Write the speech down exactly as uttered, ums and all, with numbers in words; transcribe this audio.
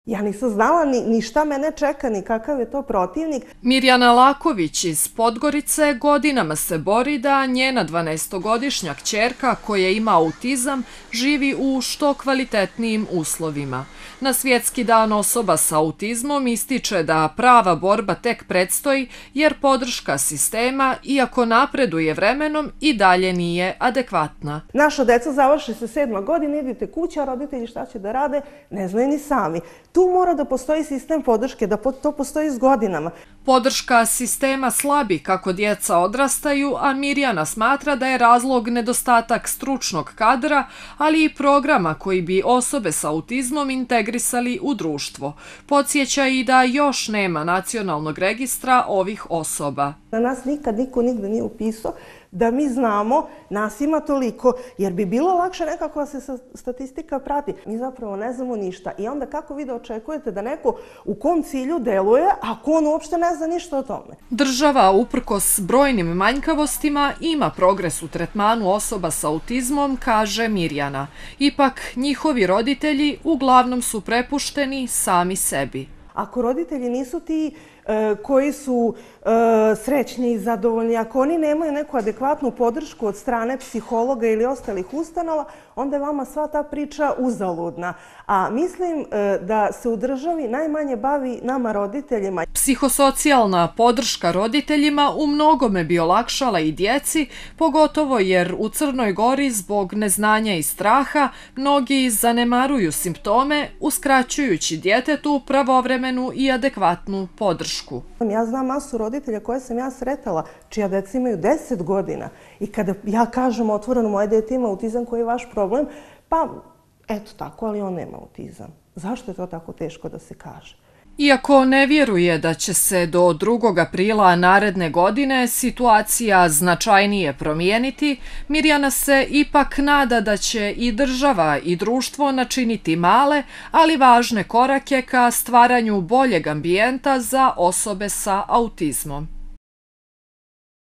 Ja nisam znala ni, ni šta mene čeka, ni kakav je to protivnik. Mirjana Laković iz Podgorice godinama se bori da njena dvanaestogodišnja kćerka koja ima autizam živi u što kvalitetnijim uslovima. Na Svjetski dan osoba sa autizmom ističe da prava borba tek predstoji jer podrška sistema, iako napreduje vremenom, i dalje nije adekvatna. Naša deca završi se sedma godina, idite kuća, roditelji šta će da rade, ne znaju ni sami. Tu mora da postoji sistem podrške, da to postoji s godinama. Podrška sistema slabi kako djeca odrastaju, a Mirjana smatra da je razlog nedostatak stručnog kadra, ali i programa koji bi osobe sa autizmom integrisali u društvo. Podsjeća i da još nema nacionalnog registra ovih osoba. Na nas nikad niko nigde nije upisao da mi znamo, nas ima toliko, jer bi bilo lakše nekako da se statistika prati. Mi zapravo ne znamo ništa. I onda kako vi da očekujete da neko u kom cilju deluje, ako on uopšte ne zna ništa o tome? Država, uprkos brojnim manjkavostima, ima progres u tretmanu osoba sa autizmom, kaže Mirjana. Ipak, njihovi roditelji uglavnom su prepušteni sami sebi. Ako roditelji nisu ti koji su srećni i zadovoljni, ako oni nemaju neku adekvatnu podršku od strane psihologa ili ostalih ustanova, onda je vama sva ta priča uzaludna. A mislim da se u državi najmanje bavi nama roditeljima. Psihosocijalna podrška roditeljima u mnogome bi olakšala i djeci, pogotovo jer u Crnoj Gori zbog neznanja i straha mnogi zanemaruju simptome, uskraćujući djetetu pravovremenu i adekvatnu podršku. Ja znam masu roditelja koje sam ja sretala, čija deca imaju deset godina i kada ja kažem otvoreno moje dete ima autizam, koji je vaš problem, pa eto tako, ali on nema autizam. Zašto je to tako teško da se kaže? Iako ne vjeruje da će se do drugog aprila naredne godine situacija značajnije promijeniti, Mirjana se ipak nada da će i država i društvo načiniti male, ali važne korake ka stvaranju boljeg ambijenta za osobe sa autizmom.